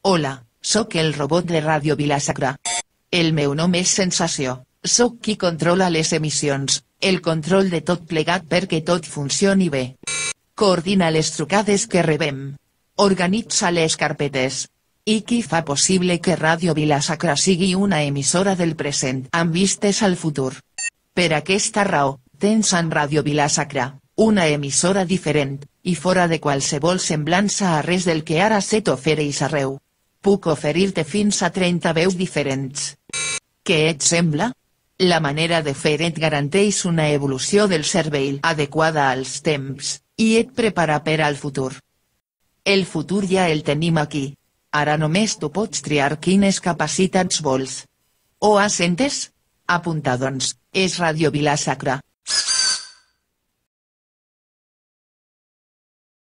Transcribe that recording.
Hola, sóc el robot de Ràdio Vila-sacra. El meu nom és Sensació, sóc qui controla les emissions, el control de tot plegat perquè tot funcioni bé. Coordina les trucades que rebem. Organitza les carpetes. I qui fa possible que Ràdio Vila-sacra sigui una emissora del present amb vistes al futur. Per aquesta raó, tens en Ràdio Vila-sacra, una emissora diferent, i fora de qualsevol semblança a res del que ara se t'ofereix arreu. Puc oferir-te fins a 30 veus diferents. Què et sembla? La manera de fer et garanteix una evolució del cervell adequada als temps, i et prepara per al futur. El futur ja el tenim aquí. Ara només tu pots triar quines capacitats vols. Ho has entès? Apunta doncs, és Ràdio Vila-sacra.